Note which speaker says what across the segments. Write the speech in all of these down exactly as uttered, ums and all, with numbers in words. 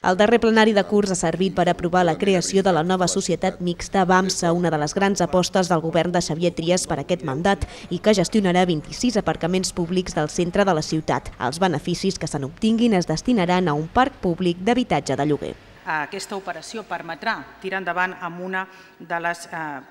Speaker 1: El darrer plenari de curs ha servit per aprovar la creació de la nova societat mixta BAMSA, una de les grans apostes del govern de Xavier Trias per aquest mandat i que gestionarà vint-i-sis aparcaments públics del centre de la ciutat. Els beneficis que se n'obtinguin es destinaran a un parc públic d'habitatge de lloguer.
Speaker 2: Aquesta operació permetrà tirar endavant amb una de les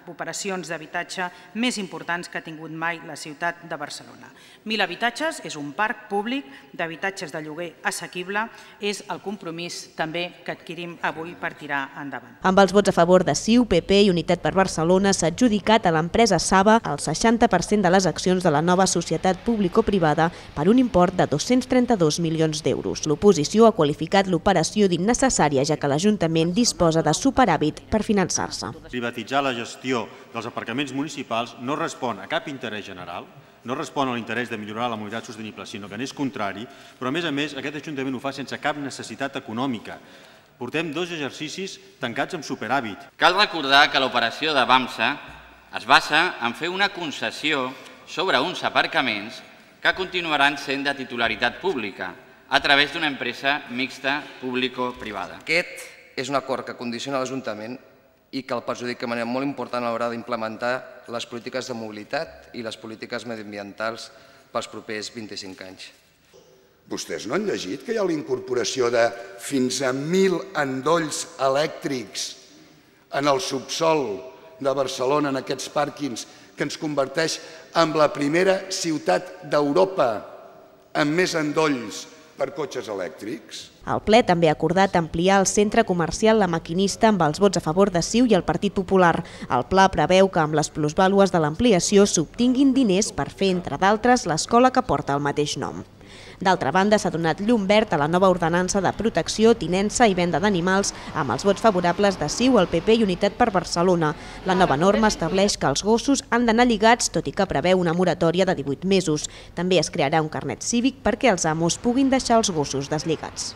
Speaker 2: operacions d'habitatge més importants que ha tingut mai la ciutat de Barcelona. Mil habitatges és un parc públic d'habitatges de lloguer assequible, és el compromís també que adquirim avui per tirar endavant.
Speaker 1: Amb els vots a favor de C I U, P P i Unitat per Barcelona s'ha adjudicat a l'empresa Saba el seixanta per cent de les accions de la nova societat público-privada per un import de dos-cents trenta-dos milions d'euros. L'oposició ha qualificat l'operació d'innecessària, ja que l'Ajuntament disposa de superàvit per finançar-se.
Speaker 3: Privatitzar la gestió dels aparcaments municipals no respon a cap interès general, no respon a l'interès de millorar la mobilitat sostenible, sinó que n'és contrari, però a més a més aquest Ajuntament ho fa sense cap necessitat econòmica. Portem dos exercicis tancats amb superàvit.
Speaker 4: Cal recordar que l'operació de BAMSA es basa en fer una concessió sobre uns aparcaments que continuaran sent de titularitat pública, a través d'una empresa mixta público-privada.
Speaker 5: Aquest és un acord que condiciona l'Ajuntament i que el perjudica de manera molt important a l'hora d'implementar les polítiques de mobilitat i les polítiques mediambientals pels propers vint-i-cinc anys.
Speaker 6: Vostès no han llegit que hi ha la incorporació de fins a mil endolls elèctrics en el subsòl de Barcelona, en aquests pàrquings, que ens converteix en la primera ciutat d'Europa amb més endolls per cotxes elèctrics?
Speaker 1: El ple també ha acordat ampliar el centre comercial La Maquinista amb els vots a favor de C I U i el Partit Popular. El pla preveu que amb les plusvàlues de l'ampliació s'obtinguin diners per fer, entre d'altres, l'escola que porta el mateix nom. D'altra banda, s'ha donat llum verd a la nova ordenança de protecció, tinença i venda d'animals amb els vots favorables de C I U, el P P i Unitat per Barcelona. La nova norma estableix que els gossos han d'anar lligats, tot i que preveu una moratòria de divuit mesos. També es crearà un carnet cívic perquè els amos puguin deixar els gossos deslligats.